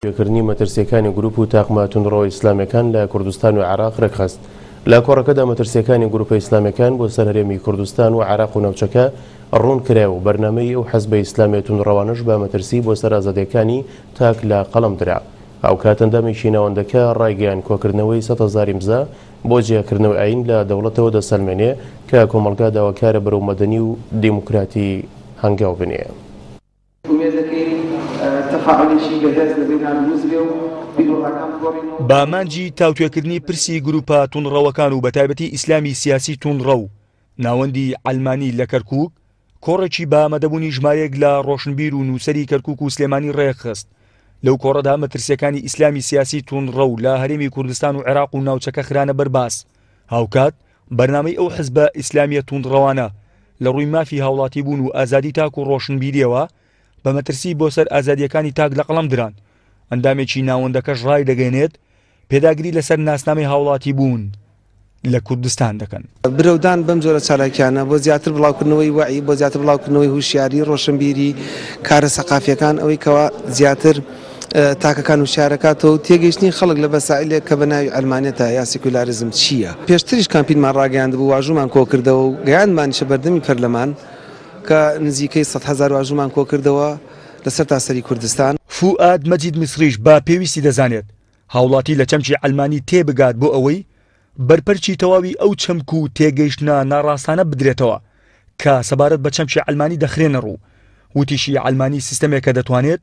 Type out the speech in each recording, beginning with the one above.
پێکردنی مەترسییەکانی گروپ و تاقمە توندڕەوە ئیسلامییەکان لە کوردستان و عێراق ڕێکخست. لە کۆڕەکەدا مەترسییەکانی گروپە ئیسلامییەکان بۆ سەر هەرێمی کوردستان و عێراق و ناوچەکە ڕوون کرایەوە و بەرنامەی ئەو حزبە ئیسلامییە توندڕەوانەش بە مەترسی بۆ سەر ئازادییەکانی تاک لە قەڵەم درا. هاوکات ئەندامێکی ناوەندەکە ڕایگەیاند کۆکردنەوەی 100,000 ئیمزا بۆ جیاکردنەوەی ئایین لە دەوڵەتەوە دەسەلمێنێ کە کۆمەڵگا داواکارە بەرەو مەدەنی و دیموکراتی هەنگاو بنێ. ئومێد دەکەین تەفاعولێکی بەهێز لە بەینان دروست بێ و بیروڕاکان بگۆڕین و. بە ئامانجی تاوتوێکردنی پرسی گروپە توندڕەوەکان و بەتایبەتی ئیسلامی سیاسی توندڕەو، ناوەندی عەلمانی لە کەرکوک کۆڕێکی بە ئامادەبوونی ژمارەیەک لە ڕۆشنبیر و نووسەری کەرکوک و سلێمانی ڕێکخست. لەو کۆڕەدا مەترسییەکانی ئیسلامی سیاسی توندڕەو لە هەرێمی کوردستان و عێراق و ناوچەکە خرانە بەر باس. هاوکات بەرنامەی ئەو حزبە ئیسلامییە توندڕەوانە لە ڕووی مافی هاوڵاتیبوون و ئازادی تاک و ڕۆشنبیرییەوە بە مەترسی بۆ سەر ئازادییەکانی تاک لە قەڵەم دران. ئەندامێکی ناوەندەکەش ڕایدەگەیەنێت، پێداگری لەسەر ناسنامەی هاوڵاتیبوون لە کوردستان دەکەن. برەودان بەم جۆرە چالاکیانە بۆ زیاتر بڵاوکردنەوەی وەعی، بۆ زیاتر بڵاوکردنەوەی هوشیاری، ڕۆشنبیری، کارە سەقافیەکان، ئەوەی کەوا زیاتر تاکەکان هوشیارەکاتەوە و تێگەیشتنی خەڵک لە مەسائیلێک کە بە ناوی عەلمانیەتە یا سیکولاریزم چییە. پێشتریش کامپینمان ڕاگەیاندبوو، واژوومان کۆکردەوە و گەیاندمانیشە بەردەمی پەرلەمان کە نزیکەی 100,000 واژوومان کۆکردەوە لە سەرتاسەری کوردستان. فوئاد مەجید میسریش بە پێویستی دەزانێت هاوڵاتی لە چەمکی عەلمانی تێبگات بۆ ئەوەی بەرپەرچی تەواوی ئەو چەمک و تێگەیشتنە ناڕاستانە بدرێتەوە کە سەبارەت بە چەمکی عەلمانی دەخرێنە ڕوو. وتیشی عەلمانی سیستەمێکە دەتوانێت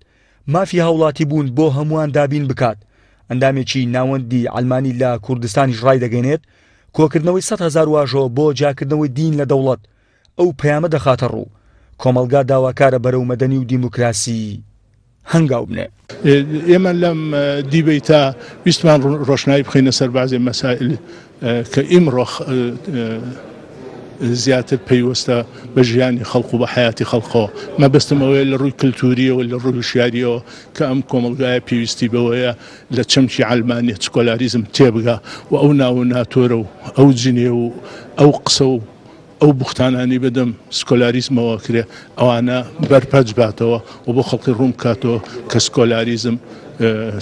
مافی هاوڵاتیبوون بۆ هەمووان دابین بکات. ئەندامێکی ناوەندی عەلمانی لە کوردستانیش ڕایدەگەیەنێت، کۆکردنەوەی 100,000 واژۆ بۆ جیاکردنەوەی دین لە دەوڵەت ئەو پەیامە دەخاتە ڕوو، کۆمەڵگا داواکارە بەرەو مەدەنی و دیموکراسی هەنگاو بنێ. ئێمە لەم دیبەیتە ویستمان ڕۆشنایی بخەینە سەر بەعزێ مەسائل کە ئیمڕۆ زیاتر پەیوەستە بە ژیانی خەڵک و بە حەیاتی خەڵکەوە. مەبەستم ئەوەیە لە ڕووی کلتوورییەوە، لە ڕووی هوشیارییەوە کە ئەم کۆمەڵگایە پێویستی بەوەیە لە چەمکی عەلمانیەت، سکۆلاریزم تێبگا و ئەو ناو و ناتۆرە و ئەو جنێو و ئەو قسە و ئەو بوختانانەی بەدەم سکۆلاریزمەوە ئەکرێ ئەوانە بەرپەرچ باتەوە و بۆ خەڵکی ڕوون بکاتەوە کە سکۆلاریزم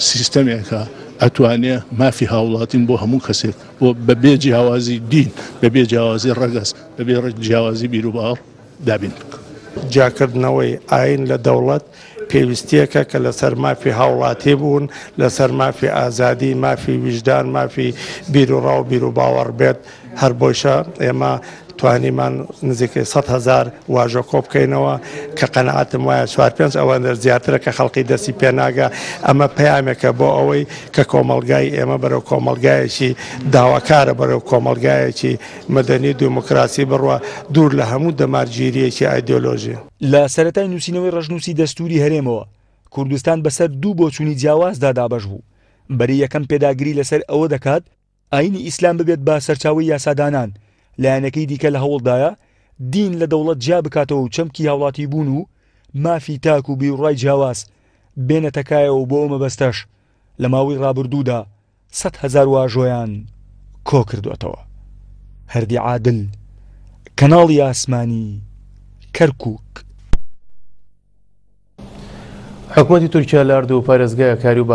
سیستەمێکە ئەتوانێ مافی هاوڵاتین بۆ هەموو کەسێک بۆ بە بێ جیاوازی دین بە بێ جیاوازی ڕەگەز بە بێ جیاوازی بیروباوەڕ دابین بکا. جیاکردنەوەی ئایین لە دەوڵەت پێویستییەکە کە لەسەر مافی هاوڵاتی بوون، لەسەر مافی ئازادی، مافی ویژدان، مافی بیروڕا و بیروباوەڕ بێت، هەر بۆیشە ئێمە توانیمان نزیکەی 100,000 واژۆ کۆبکەینەوە کە قەناعەتم وایە چوار پێنج ئەوەندە زیاترە کە خەڵکی دەستی پێناگا، ئەمە پەیامێکە بۆ ئەوەی کە کۆمەڵگای ئێمە بەرەو کۆمەڵگایەکی داواکارە، بەرەو کۆمەڵگایەکی مەدەنی و دیموکراسی بڕوا، دوور لە هەموو دەمارگیرییەکی ئایدیۆلۆژی. لە سەرەتای نووسینەوەی ڕەشنووسی دەستووری هەرێمەوە، کوردستان بەسەر دوو بۆچوونی جیاوازدا دابەش بوو. بەرەی یەکەم پێداگری لەسەر ئەوە دەکات ئایینی ئیسلام ببێت بە سەرچاوەی یاسادانان، لایەنەکەی دیکە لە هەوڵدایە دین لە دەوڵەت جیا بکاتەوە و چەمکی هاوڵاتیبوون و مافی تاک و بیروڕای جیاواز بێنێتە کایەوە و بۆ ئەو مەبەستەش لە ماوەی ڕابردوودا 100,000 واژۆیان کۆکردووەتەوە. هەردی عادل، کەناڵی ئاسمانی، کەرکوک. حکومەتی تورکیا لە هەردوو پارێزگای هەکاری و.